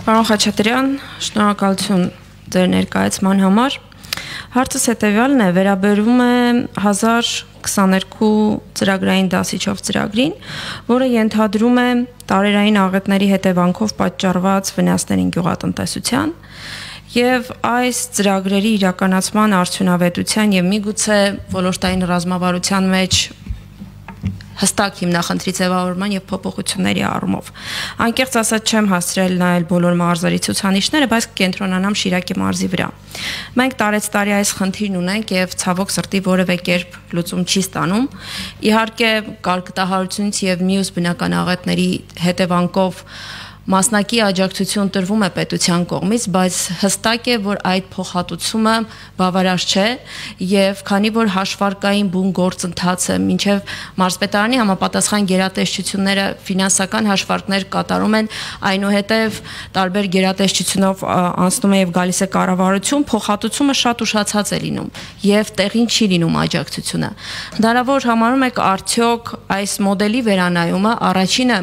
Պարոն Խաչատրյան, շնորհակալություն ձեր ներկայացման համար։ Հարցս հետևյալն է, վերաբերում է 1022 ծրագրային դասիչով ծրագրին, որը ենթադրում է տարերային աղետների հետևանքով պատճառված վնասներին գյուղատնտեսության եւ այս ծրագրերի իրականացման արդյունավետության եւ միգուցե ոլորտային ռազմավարության մեջ հստակ հիմնախնդրի ձևավորման եւ փոփոխությունների առումով։ Անկեղծ ասած չեմ հասցրել նայել բոլոր մարզերի ցուցանիշները, բայց կենտրոնանամ Շիրակի մարզի վրա։ Մենք տարեցտարի այս խնդիրն ունենք եւ ցավոք սրտի որևէ կերպ լուծում չի ստանում։ Իհարկե կարգտահարությունից եւ մյուս բնական աղետների հետևանքով մասնակի աջակցություն տրվում է պետության կողմից, բայց հստակ է, որ այդ փոխհատուցումը բավարար չէ եւ քանի որ հաշվարկային բուն գործընթացը մինչեւ մարզպետարանի համապատասխան գերատեսչությունները ֆինանսական հաշվարկներ կատարում են, այնուհետեւ տարբեր գերատեսչությունով անցնում է եւ գալիս է կառավարություն, փոխհատուցումը շատ ուշացած է լինում եւ տեղին չի լինում աջակցությունը։ Հնարավոր համարում եք արդյոք այս մոդելի վերանայումը առաջինը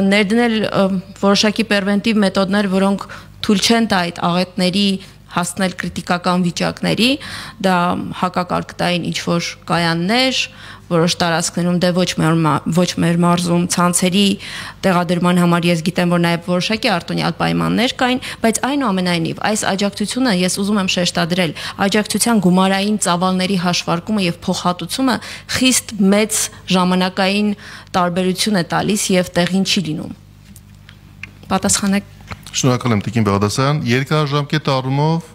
ներդնել որոշակի պերվենտիվ մեթոդներ, որոնք թույլ չեն տա այդ աղետների հասնել կրիտիկական վիճակների, դա հակակարգտային ինչ-որ կայաններ, որոշ տարածքներում դե ոչ մեր մարզում ցանցերի տեղադրման համար ես գիտեմ, որ նաև որոշակի արտոնյալ պայմաններ կային, բայց այնուամենայնիվ այս աջակցությունը ես ուզում եմ շեշտադրել, աջակցության գումարային ծավալների հաշվարկումը եւ փոխհատուցումը խիստ մեծ ժամանակային տարբերություն է տալիս եւ տեղին չի լինում։ Պատասխանեք։ Շնորհակալ եմ Տիկին Բաղդասարյան, երկարաժամկետ առումով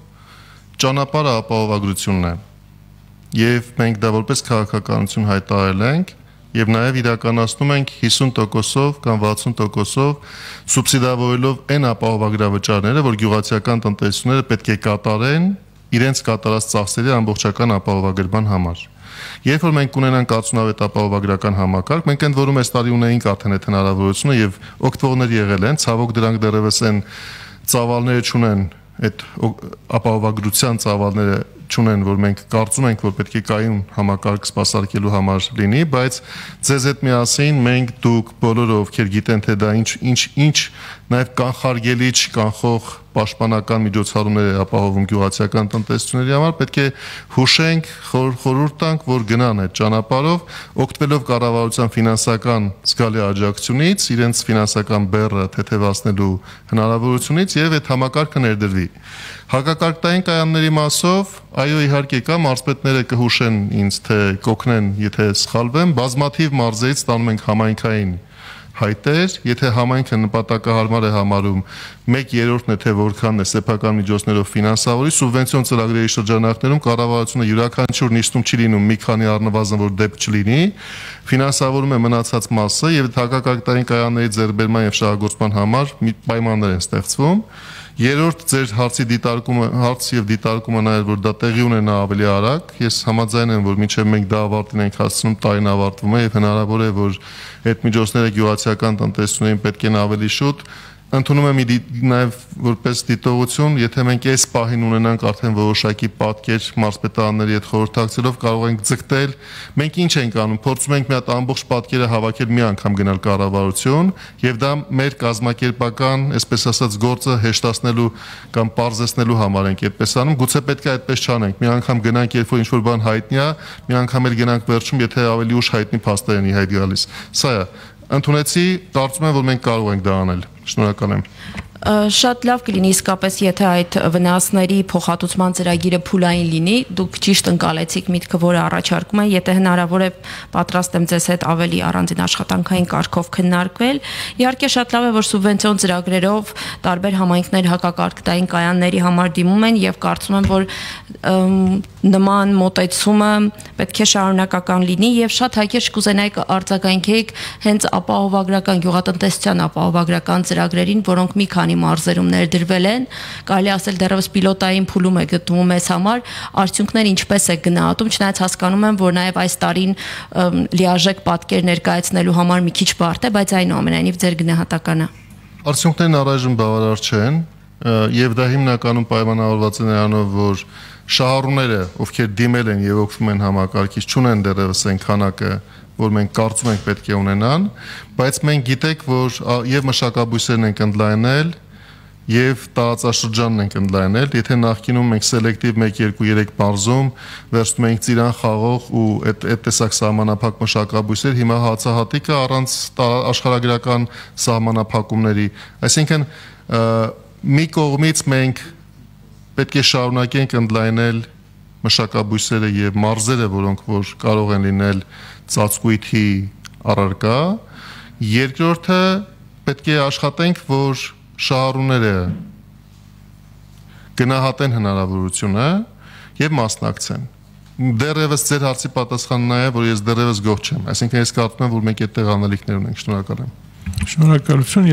ճանապարհը ապահովագրությունն է եւ մենք դա որպես քաղաքականություն հայտարարել ենք եւ նաեւ իրականացնում ենք 50%-ով կամ 60%-ով սուբսիդավորելով այն ապահովագրավճարները, որ գյուղացիական տնտեսությունները պետք է կատարեն իրենց կատարած ծախսերի ամբողջական ապահովագրման համար։ Երբ որ մենք ունենանք արդյունավետ ապահովագրական համակարգ, մենք ընդ որում այս տարի ունեինք արդեն այդ հնարավորությունը եւ օգտվողներ եղել են, ցավոք դրանք դեռևս են ծավալները չունեն, այդ ապահովագրության ծավալները չունեն, որ մենք կարծում ենք, որ պետք է կայուն համակարգ սպասարկելու համար լինի, բայց ձեզ հետ միասին մենք դուք բոլորը ովքեր գիտեն թե դա ինչ նաև կանխարգելի չկանխող պաշտպանական միջոցառումներ է ապահովում գյուղացիական տնտեսությունների համար, պետք է հուշենք, խորհուրդ տանք, որ գնան այդ ճանապարհով, օգտվելով կառավարության ֆինանսական զգալի աջակցությունից, իրենց ֆինանսական բեռը թեթևացնելու հնարավորությունից եւ այդ համակարգը ներդրվի։ Հակակարգտային կայանների մասով, այո, իհարկե կա, մարզպետները կհուշեն ինձ, թե կօգնեն, եթե սխալվեմ, բազմաթիվ մարզերից ստանում ենք համայնքային հայտեր, եթե համայնքը նպատակահարմար է համարում 1/3-ն է թե որքանն է սեփական միջոցներով ֆինանսավորի, սուբվենցիոն ծրագրերի շրջանակներում կառավարությունը յուրաքանչյուր նիստում չի լինում մի քանի առնվազն որ դեպք չլինի, ֆինանսավորում է մնացած մասը եւ հակակարգտային կայանների ձեռբերման եւ շահագործման համար պայմաններ են ստեղծվում։ Երրորդ ձեր հարցի դիտարկումը նաև որ դա տեղի ունենա ավելի արագ, ես համաձայն եմ, որ մինչև մենք դա ավարտին ենք հասցնում, տարին ավարտվում է եւ հնարավոր է, որ այդ միջոցները գյուղացիական տնտեսություններին պետք են ավելի շուտ ընդունում եմ նաև որպես դիտողություն, եթե մենք այս պահին ունենանք արդեն որոշակի պատկեր մարզպետարանների հետ խորհրդակցելով կարող ենք ձգտել, մենք ինչ ենք անում, փորձում ենք մի հատ ամբողջ պատկերը հավաքել մի անգամ գնալ կառավարություն եւ դա մեր կազմակերպական, այսպես ասած, գործը հեշտացնելու կամ պարզեցնելու համար ենք այդպես անում, գուցե պետք է այդպես չանենք, մի անգամ գնանք, երբ որ ինչ-որ բան հայտնի է, մի անգամ էլ գնանք վերջում, եթե ավելի ուշ հայտնի փաստեր են ի հայտ գալիս։ Սա է, ընդունեցի, կարծում եմ, որ մենք կարող ենք դա անել։ Շնորհակալ եմ։ Շատ լավ կլինի իսկապես, եթե այդ վնասների փոխհատուցման ծրագիրը փուլային լինի, դուք ճիշտ ընկալեցիք միտքը, որը առաջարկում են, եթե հնարավոր է պատրաստ եմ ձեզ հետ ավելի առանձին աշխատանքային կարգով քննարկվել։ Իհարկե շատ լավ է, որ սուբվենցիոն ծրագրերով տարբեր համայնքներ հակակարգտային կայանների համար դիմում են եւ կարծում եմ, որ նման մոտեցումը պետք է շարունակական լինի եւ շատ հակիրճ կուզենայիք արձագանքեիք հենց ապահովագրական գյուղատնտեսության ապահովագրական ծրագրերին, որոնք մի քանի մարզերում ներդրվել են, կարելի ասել դեռևս պիլոտային փուլում է գտնվում մեզ համար, արդյունքները ինչպես է գնահատում, չնայած հասկանում եմ, որ նաև այս տարին լիարժեք պատկեր ներկայացնելու համար մի քիչ բարդ է, բայց այնուամենայնիվ ձեր գնահատականը։ Արդյունքներն առայժմ բավարար չեն, եւ դա հիմնականում պայմանավորված է նրանով, որ շահառուները, ովքեր դիմել են եւ օգտվում են համակարգից, չունեն դեռևս այն քանակը, որ մենք կարծում ենք պետք է ունենան, բայց մենք գիտենք, որ եւ մշակաբույսերն ենք ընդլայնել, եւ տարածաշրջանն ենք ընդլայնել, եթե նախկինում մենք սելեկտիվ 1-2-3 մարզում վերցնում ենք ծիրան խաղող ու այդ տեսակ սահմանափակ մշակաբույսեր, հիմա հացահատիկը առանց աշխարհագրական սահմանափակումների, այսինքն մի կողմից մենք պետք է շարունակենք ընդլայնել մշակաբույսերը եւ մարզերը, որոնք որ կարող են լինել ծածկույթի առարկա, երկրորդը պետք է աշխատենք, որ շահառուները գնահատեն հնարավորությունը եւ մասնակցեն։ Դեռևս ձեր հարցի պատասխանն է, որ ես դեռևս գոհ չեմ, այսինքն ես կարծում եմ, որ մենք այդտեղ անելիքներ ունենք, շնորհակալ եմ։ Շնորհակալություն։